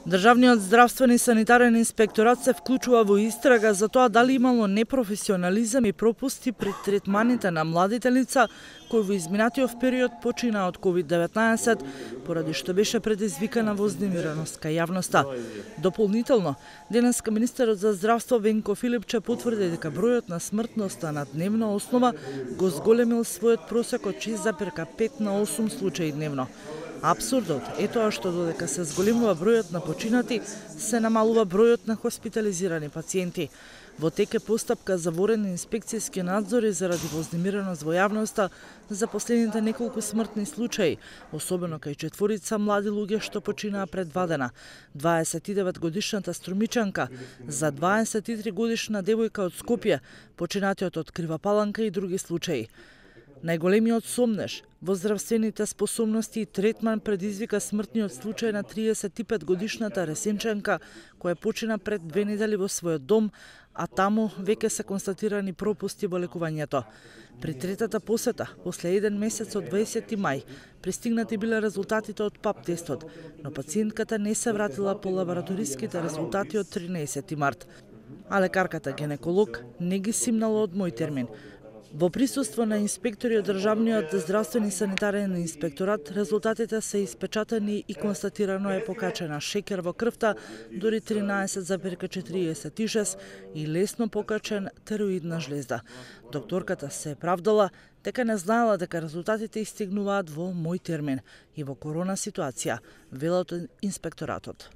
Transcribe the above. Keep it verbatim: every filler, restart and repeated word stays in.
Државниот здравствен и санитарен инспекторат се вклучува во истрага за тоа дали имало непрофесионализам и пропусти при третманите на младите лица кои во изминатиот период почина од ковид деветнаесет, поради што беше предизвикана вознемиреност кај јавноста. Дополнително, денеска министерот за здравство Венко Филипче потврди дека бројот на смртноста на дневна основа го зголемил својот просек од шест зарез пет на осум случаи дневно. Апсурдот е тоа што додека се зголемува бројот на починати, се намалува бројот на хоспитализирани пациенти. Во тек е постапка за ворени инспекцијски надзори заради вознемиреност во јавноста за последните неколку смртни случаи, особено кај четворица млади луѓе што починаа пред два дена. дваесет и девет годишната струмичанка, за дваесет и три годишна девојка од Скопје, починатиот од Крива Паланка и други случаи. Најголемиот сомнеж во здравствените способности и третман предизвика смртниот случај на триесет и пет годишната Ресенчанка, која почина пред две недели во својот дом, а таму веќе се констатирани пропусти во лекувањето. При третата посета, после еден месец од дваесети мај, пристигнати биле резултатите од пап тестот, но пациентката не се вратила по лабораториските резултати од тринаесети март. А лекарката гинеколог не ги симнала од мој термин. Во присуство на инспектори од Државниот здравствен и санитарен инспекторат, резултатите се испечатени и констатирано е покачена шеќер во крвта, дури тринаесет зарез четириесет и шест и лесно покачен тероидна жлезда. Докторката се правдала дека не знаела дека резултатите истигнуваат во мој термин и во корона ситуација, велат инспекторатот.